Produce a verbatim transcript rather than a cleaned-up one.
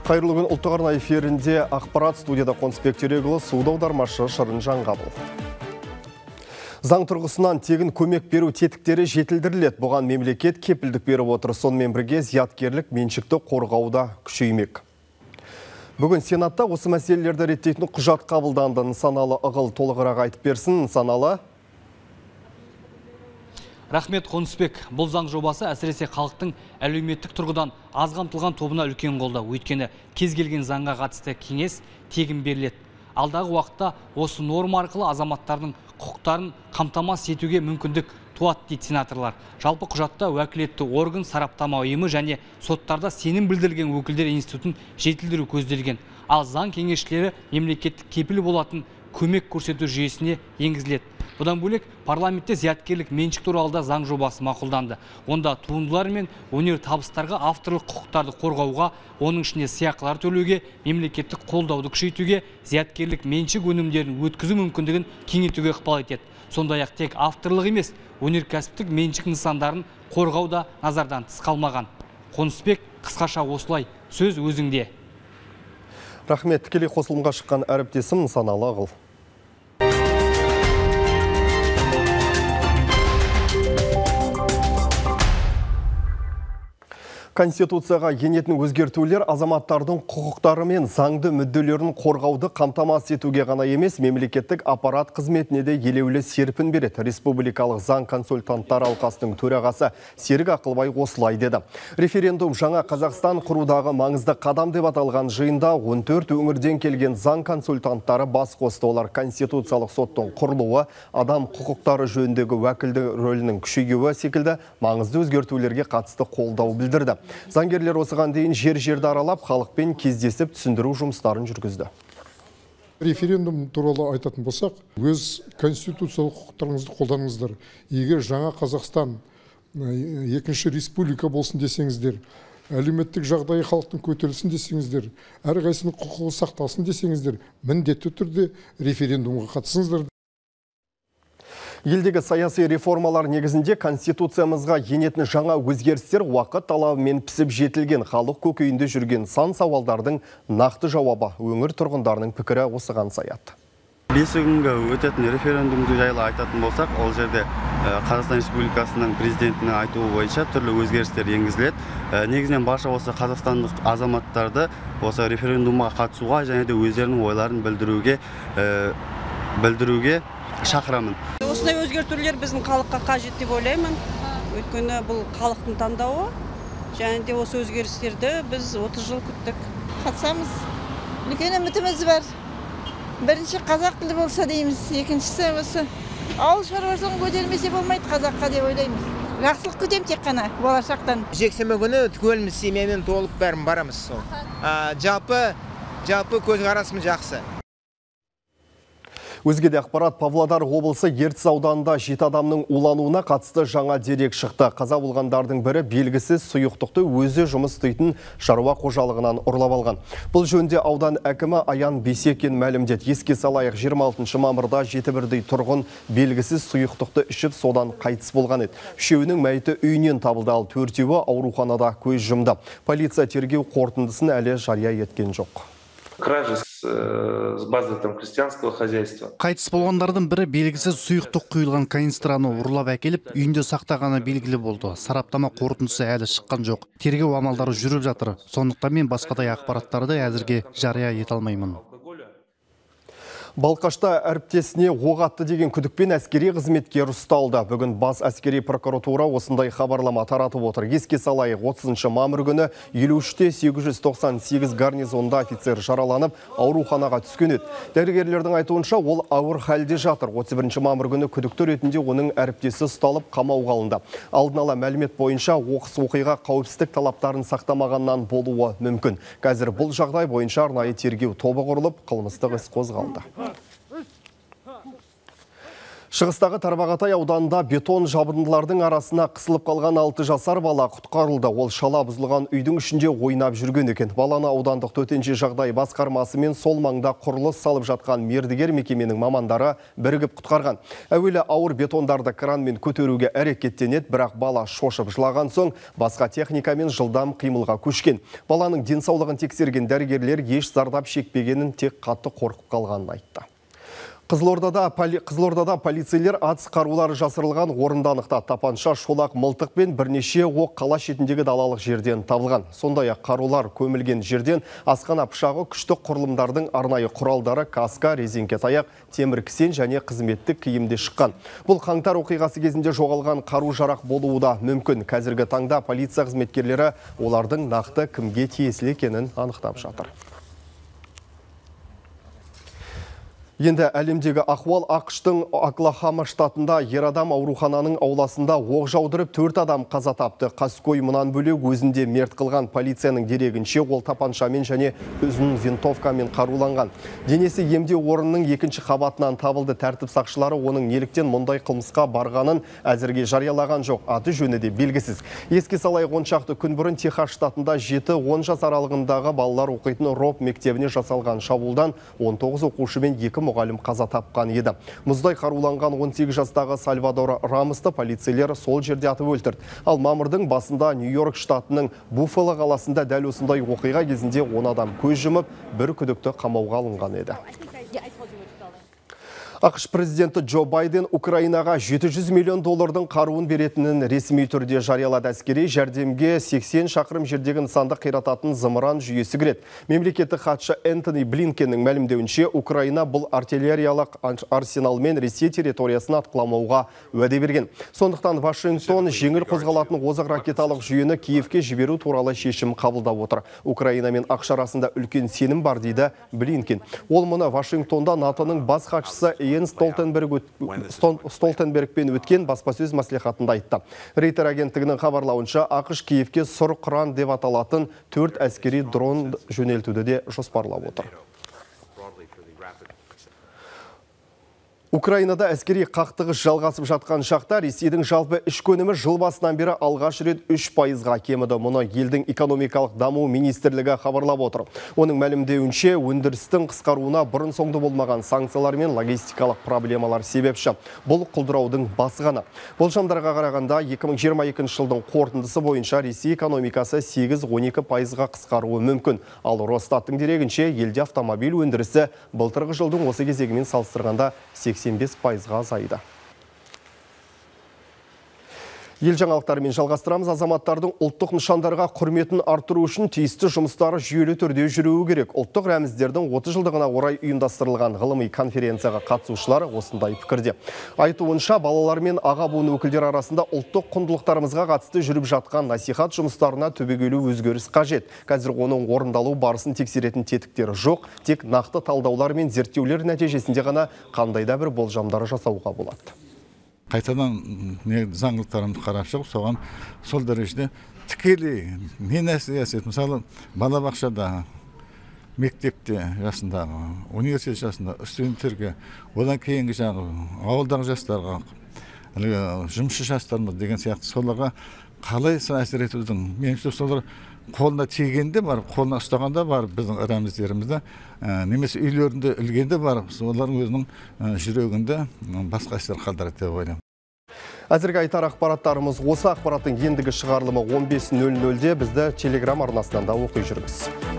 Қайырлы күн, ұлттық арна эфирінде ақпарат, студияда Қонысбек Терегұлы, суды аудармашы Шырын Жаңғабыл. Заң тұрғысынан тегін көмек беру тетіктері жетілдіріледі. Бұған мемлекет кепілдік беріп отыр. Сонымен бірге зияткерлік меншікті қорғауда күшеймек. Бүгін Сенатта осы мәселелерді реттейтін құжат қабылданды. Нысаналы ығыл толығырақ айтып берсін. Нысаналы. Рахмет, Қонысбек. Бұл заң жобасы әсіресе халықтың әлеуметтік тұрғыдан аз қамтылған тобына үлкен қолдау. Өйткені кез келген заңға қатысты кеңес тегін беріледі. Алдағы уақытта осы норма арқылы азаматтардың құқықтарын қамтамасыз етуге мүмкіндік туады дейді сенаторлар. Жалпы құжатта уәкілетті орган, сараптама ұйымы және соттарда сенім білдірілген өкілдер институтын жетілдіру көзделген. Ал заң кеңесшілері мемлекеттік кепіл болатын көмек көрсету жүйесіне енгізіледі. Бұдан бөлек парламентте зияткерлік меншік туралы да заң жобасы мақұлданды. Онда туындылар мен өнер табыстарға авторлық құқықтарды қорғауға, оның ішіне сыйақылар төлеуге, мемлекеттік қолдауды күшейтуге, зияткерлік меншік өнімдерін өткізу мүмкіндігін кеңейтуге ықпал етеді. Сондай-ақ тек авторлық емес, өнеркәсіптік меншік нысандарын қорғау да назардан тыс қалмаған. Қонысбек, қысқаша осылай, сөз өзіңде. Рахмет, тікелей қосылымға шыққан әріптесім Нысаналы ығыл. Конституцияға енетін өзгертулер азаматтардың құқықтары мен заңды мүдделерін қорғауды қамтамасыз етуге ғана емес, мемлекеттік аппарат қызметіне де елеулі серпін береді. Республикалық заң консультанттар алқасының төрағасы Серік Ақылбай осылай деді. Референдум жаңа Қазақстан құрудағы маңызды қадам деп аталған жиында он төрт өңірден келген заң консультанттары бас қосты. Олар конституциялық соттың құрылуы, адам құқықтары жөніндегі уәкілді рөлінің күшеюі секілді маңызды өзгертулерге қатысты қолдау білдірді. Заңгерлер осыған дейін жер-жерді аралап, халықпен кездесіп түсіндіру жұмыстарын жүргізді. Референдум туралы айтатын болсақ, өз конституциялық құқықтарыңызды қолданыңыздар. Егер жаңа Қазақстан екінші республика болсын десеңіздер, әлеуметтік жағдайы халықтың көтерілсін десеңіздер, әрқайсының құқығы сақталсын десеңіздер, міндетті түрде референдумға қатысыңыздар. Елдегі саяси реформалар негізінде конституциямызға енетін жаңа өзгерістер уақыт талабымен пісіп жетілген, халық көкейінде жүрген сан сауалдардың нақты жауабы. Өңір тұрғындарының пікірі осыған саяды. Бесі күнгі өтетін референдум жайлы айтатын болсақ, ол жерде Қазақстан Республикасының президентінің айтуы бойынша түрлі өзгерістер енгізіледі. Негізінен барша осы қазақстандық азаматтарды осы референдумға қатысуға және де өздерінің ойларын білдіруге білдіруге шақырамын. Осындай өзгертулер біздің халыққа қажет деп ойлаймын. Өйткені бұл халықтың таңдауы, және де осы өзгерістерді біз отыз жыл күттік. Қатысамыз. Үлкен үмітіміз бар. Бірінші қазақ тілі болса дейміз, екіншісі осы ауыл шаруашылығын көтермесе болмайды қазаққа деп ойлаймыз. Жақсылық күтем тек қана болашақтан. Жексенбі күні түгеліміз семьямен толып бәрін барамыз сол. Жалпы жалпы көзқарасымыз жақсы. Өзгеде ақпарат, Павлодар облысы Ертіс ауданында жеті адамның улануына қатысты жаңа дерек шықты. Қаза болғандардың бірі белгісіз сұйықтықты өзі жұмыс істейтін шаруа қожалығынан ұрлап алған. Бұл жөнінде аудан әкімі Аян Бейсекин мәлімдеді. Еске салайық, жиырма алтыншы мамырда жеті бірдей тұрғын белгісіз сұйықтықты ішіп содан қайтыс болған еді. Үшеуінің мәйіті үйінен табылды, ал төртеуі ауруханада көз жұмды. Полиция тергеу қорытындысын әлі жария еткен жоқ. Кражи с базы там крестьянского хозяйства. Қайтыс болғандардың бірі белгісіз сұйықтық құйылған канистраны ұрлап әкеліп, үйінде сақтағаны белгілі болды. Сараптама қорытындысы әлі шыққан жоқ. Тергеу амалдары жүріп жатыр. Сондықтан мен басқадай ақпараттарды әзірге жария ете алмаймын. Балқашта әріптесіне оқ атты деген күдікпен әскери қызметкер ұсталды. Бүгін бас әскери прокуратура осындай хабарлама таратып отыр. Еске салайық, отызыншы мамыр күні елу үште сегіз жүз тоқсан сегіз гарнизонда офицер жараланып, ауруханаға түскен еді. Дәрігерлердің айтуынша, ол ауыр халде жатыр. отыз бірінші мамыр күні күдікті ретінде оның әріптесі ұсталып қамауға алынды. Алдын ала мәлімет бойынша оқыс оқиға қауіпсіздік талаптарын сақтамағаннан болуы мүмкін. Қазір бұл жағдай бойынша арнайы тергеу тобы құрылып, қылмыстық іс қозғалды. Шығыстағы Тарбағатай ауданында бетон жабындылардың арасына қысылып қалған алты жасар бала құтқарылды. Ол шала бұзылған үйдің ішінде ойнап жүрген екен. Баланы аудандық төтенше жағдай басқармасы мен сол маңда құрылыс салып жатқан мердігер мекеменің мамандары бірігіп құтқарған. Әуелі ауыр бетондарды кранмен көтеруге әрекеттенеді, бірақ бала шошып жылаған соң басқа техникамен жылдам қимылға көшкен. Баланың денсаулығын тексерген дәрігерлер еш зардап шекпегенін, тек қатты қорқып қалғанын айтты. Қызылордада, поли, Қызылордада полицейлер атыс қарулары жасырылған орынды анықтады. Тапанша, шолақ, мылтық пен бірнеше оқ қала шетіндегі далалық жерден табылған. Сондай-ақ қарулар көмілген жерден асқана пышағы, күштік құрылымдардың арнайы құралдары, каска, резеңке таяқ, темір кісен және қызметтік киімде шыққан. Бұл қаңтар оқиғасы кезінде жоғалған қару-жарақ болуы да мүмкін. Қазіргі таңда полиция қызметкерлері олардың нақты кімге тиесілі екенін анықтап жатыр. Енді әлемдегі ахуал ақштың Оклахома штатында ер адам аурухананың ауласында оқ жаудырып төрт адам қаза тапты. Қаскөй мұнан бөлек өзінде мерт қылған. Полицияның дерегінше ол тапаншамен және ұзын винтовкамен қаруланған. Денесі емдеу орнының екінші қабатынан табылды. Тәртіп сақшылары оның неліктен мұндай қылмысқа барғанын әзірге жариялаған жоқ. Аты жөні де белгісіз. Еске салайық, он шақты күн бұрын Техас штатында жеті он жас аралығындағы балалар оқитын Роб мектебіне жасалған шабуылдан он тоғыз оқушы мен екі мұғалім қаза тапқан еді. Мұздай қаруланған он сегіз жастағы Сальвадор Рамосты полицейлер сол жерде атып өлтірді. Ал мамырдың басында Нью-Йорк штатының Буффало қаласында дәл осындай оқиға кезінде он адам көз жұмып, бір күдікті қамауға алынған еді. ақш президенті Джо Байден Украинаға жеті жүз миллион доллардың қаруын беретінін ресми түрде жариялады. Әскери жәрдемге сексен шақырым жердегі нысанды қирататын зымыран жүйесі кіреді. Мемлекеттік хатшы Энтони Блинкеннің мәлімдеуінше, Украина бұл артиллериялық арсеналмен Ресей территориясын атқыламауға уәде берген. Сондықтан Вашингтон жеңіл қозғалатын озық ракеталық жүйені Киевке жіберу туралы шешім қабылдап отыр. Украина мен ақш арасында үлкен сенім бар дейді Блинкен. Ол мұны Вашингтонда натоның бас хатшысы Йенс Столтенбергпен өткен баспасөз мәслихатында айтты. Рейтер агенттігінің хабарлауынша, ақш Киевке сұр қыран деп аталатын төрт әскери дрон жөнелтуді де жоспарлап отыр. Украинада әскери қақтығыс жалғасып жатқан шақта Ресейдің жалпы ішкі өнімі жыл басынан бері алғаш рет үш пайызға кеміді. Мұны елдің экономикалық даму министрлігі хабарлап отыр. Оның мәлімдеуінше, өндірістің қысқаруына бұрын соңды болмаған санкциялар мен логистикалық проблемалар себепші. Бұл құлдыраудың басы ғана. Болжамдарға қарағанда екі мың жиырма екінші жылдың қорытындысы бойынша Ресей экономикасы сегіз он екі пайызға қысқаруы мүмкін. Ал Росстаттың дерегінше, елде автомобиль өндірісі былтырғы жылдың осы кезегімен салыстырғанда сексен бес пайызға азайды. Ел жаңалықтарымен жалғастырамыз. Азаматтардың ұлттық нышандарға құрметін арттыру үшін тиісті жұмыстары жүйелі түрде жүруі керек. Ұлттық рәміздердің отыз жылдығына орай ұйымдастырылған ғылыми конференцияға қатысушылар осындай пікірде. Айтуынша, балалар мен аға буын өкілдері арасында ұлттық құндылықтарымызға қатысты жүріп жатқан насихат жұмыстарына түбегейлі өзгеріс қажет. Қазір оның орындалу барысын тексеретін тетіктері жоқ, тек нақты талдаулар мен зерттеулер нәтижесінде ғана қандай да бір болжамдары жасауға болады. Қайтадан заңдылықтарымды қарап шығып, соған сол дәрежеде тікелей не нәрсе әсет. Мысалы, балабақшада, мектепте жасындағы, университет жасында студенттерге, одан кейінгі жағы ауылдағы жастарға, жұмысшы жастарымыз деген сияқты соларға қалай әсер етудің, меніңше солар қолына тигенде бар, қолына ұстағанда бар біздің рәміздерімізді, немесе үйлерінде ілгенде бар, солардың өзінің жүрегінде басқа әсер қалдырады деп ойлаймын. Әзірге айтар ақпараттарымыз осы. Ақпараттың ендігі шығарылымы он бес нөл нөлде. Бізді Телеграм арнасынан да оқи жүріңіз.